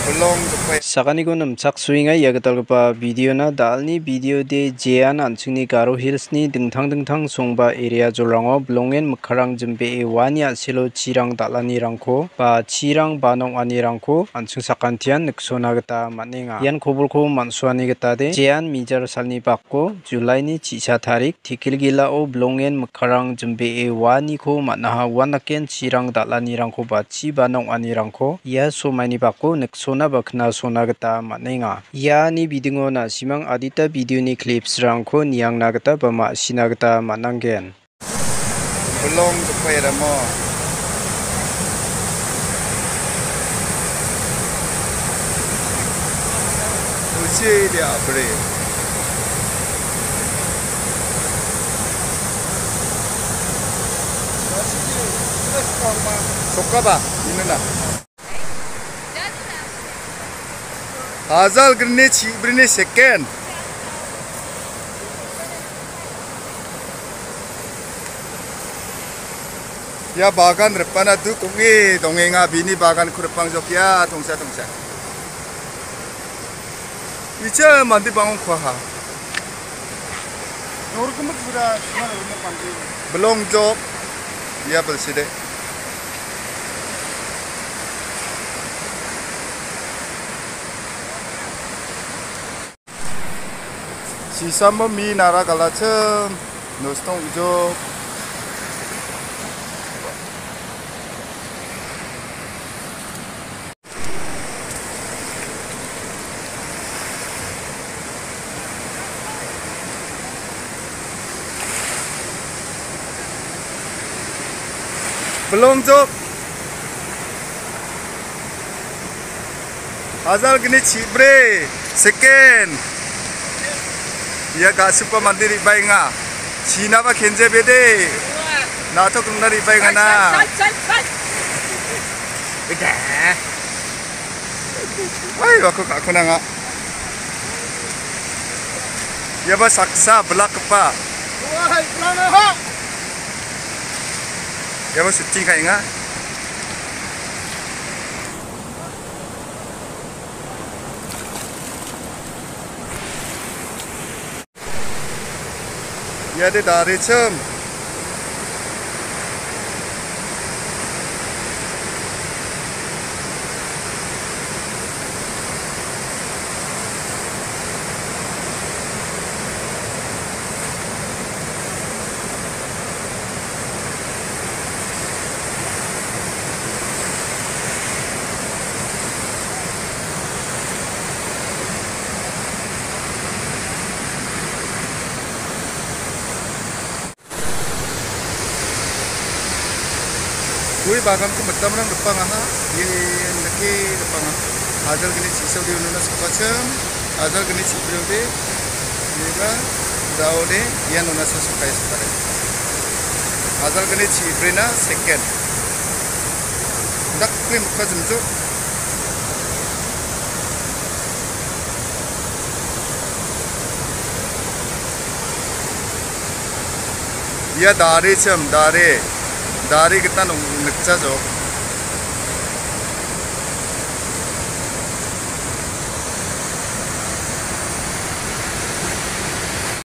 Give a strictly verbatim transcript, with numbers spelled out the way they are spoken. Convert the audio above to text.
Bilong jokbae. Sakaniko nimchaksoenga ia gitalgipa videona. Dalni videode jean an·chingni Garo Hillsni dingtang dingtang songba area jolrango bilongen mikkarang jimbee uani a·selo chirang dal·anirangko ba chirang ba nong·anirangko an·ching sakantian niksona gita man·enga. Ian kobolko man·suani gitade jean mijar salni bako Julaini chi·sa tarik, Tekilgilao bilongen mikkarang jimbee uaniko man·aha, uanaken chirang dal·anirangko ba chi ba nong·anirangko ia somaini bako niksona ba knasona gita man·enga. Iani bidingo na·simang adita videoni clipsrangko niangna gita ba ma·sina gita man·angen. Bilong jokbae ramo. Usi dia bre. Sokaba, ini na. Ajal grini chi brini second. Ia bagan ripana duk ong·e dongenga, bini baganko ripangjok ia tongsa tongsa. Icha mande bang·ongkuaha. Bilong jok. Ia bilside. Sisamo mi nara galachim. Nostong ujok. Bilong jok. Ajal gini chibre, second. Ia ga·supa mande re·baenga. Chinaba kenje bede. Na·tok ringna re·baenga na. Ida. Oi, wako ka·kona nga. Iaba saksa bilakgipa. Iaba shooting ka·enga. Iade darichim. Gue baganko mitamrang ripangaha, ian dake ripanga. Ajal gini chisode ununa sakbachim, ajal gini chibriode, iba daode, ian una sasukaya sakare. Ajal gini chibrina second. Daklim ka jumjuk. Ia darichim, dari. Dari gita nong-, nikchajok.